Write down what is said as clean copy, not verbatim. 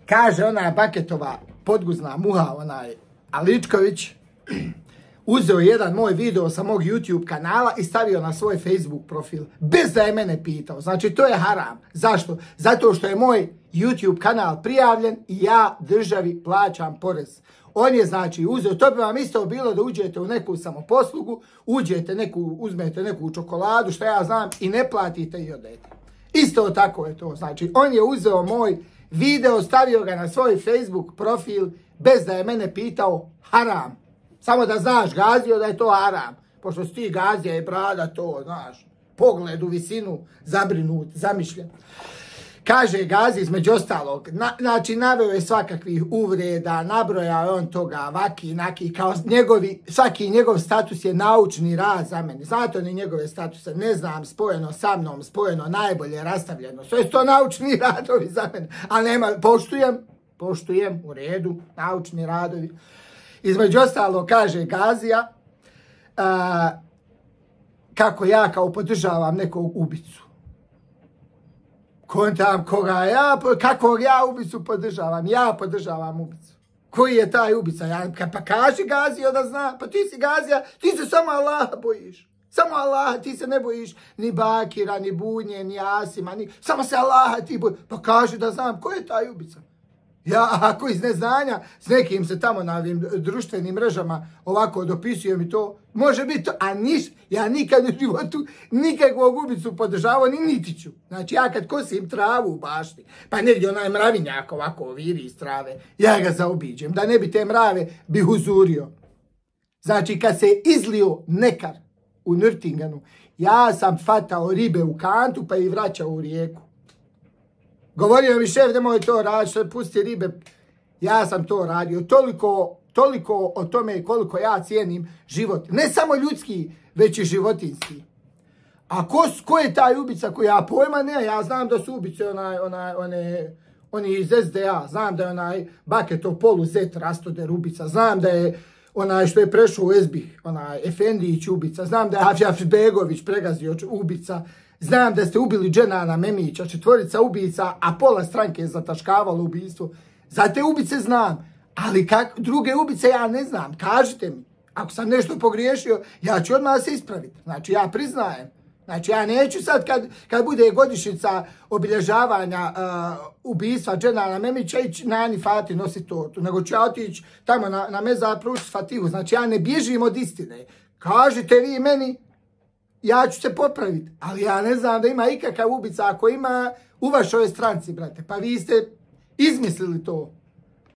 Kaže ona Baketova podguzna muha, onaj Aličković, uzeo jedan moj video sa mog YouTube kanala i stavio na svoj Facebook profil, bez da je mene pitao. Znači, to je haram. Zašto? Zato što je moj YouTube kanal prijavljen i ja državi plaćam porez. On je, znači, uzeo, to bi vam isto bilo da uđete u neku samoposlugu, uzmete neku čokoladu, što ja znam, i ne platite i odete. Isto tako je to. Znači, on je uzeo moj video, stavio ga na svoj Facebook profil, bez da je mene pitao, haram. Samo da znaš, Gazio, da je to haram. Pošto si ti Gazija i brada to, znaš, pogled u visinu, zabrinut, zamišljen. Kaže Gazi, između ostalog, znači naveo je svakakvih uvreda, nabrojao je on toga, vaki, naki, kao svaki njegov status je naučni rad za mene. Znate oni njegove statuse, ne znam, spojeno sa mnom, spojeno najbolje, rastavljeno. Sve su to naučni radovi za mene. A nema, poštujem, u redu, naučni radovi. Između ostalog, kaže Gazija, kako ja kao podržavam nekog ubicu. Kontam kakvog ja ubicu podržavam? Ja podržavam ubicu. Koji je taj ubica? Pa kaži Gazio da zna. Pa ti si Gazija, ti se samo Allaha bojiš. Samo Allaha, ti se ne bojiš ni Bakira, ni Bunje, ni Asima, samo se Allaha ti bojiš. Pa kaži da znam, ko je taj ubica? Ja, ako iz neznanja, s nekim se tamo na ovim društvenim mrežama ovako dopisujem i to, može biti to, a ja nikad u životu nikakvog ubicu podržavao, niti ću. Znači, ja kad kosim travu u bašti, pa negdje onaj mravinjak ovako viri iz trave, ja ga zaobiđem, da ne bi te mrave bih uzurio. Znači, kad se izlio nekar u Nürtingenu, ja sam fatao ribe u kantu pa ih vraćao u rijeku. Govorio mi šef, nemoj to raditi, pusti ribe. Ja sam to radio. Toliko o tome koliko ja cijenim život. Ne samo ljudski, već i životinjski. A ko je taj ubica koji ja pojma? Ne, ja znam da su ubice oni iz SDA. Znam da je onaj Baketov poluzet Rastoder ubica. Znam da je onaj što je prešao u Ezbih, onaj Efendić ubica. Znam da je Afbegović pregazio ubica. Znam da ste ubili Dženana Memića, 4 ubica, a pola stranke je zataškavalo ubistvo. Za te ubice znam, ali druge ubice ja ne znam. Kažite mi, ako sam nešto pogriješio, ja ću odmah se ispraviti. Znači, ja priznajem. Znači, ja neću sad kad bude godišnjica obilježavanja ubistva Dženana Memića ići na Ani Fati nositi tortu, nego ću ja otići tamo na mezar pručiti Fatihu. Znači, ja ne bježim od istine. Kažite vi meni, ja ću se popraviti, ali ja ne znam da ima ikakav ubica, ako ima u vašoj stranci, brate. Pa vi ste izmislili to.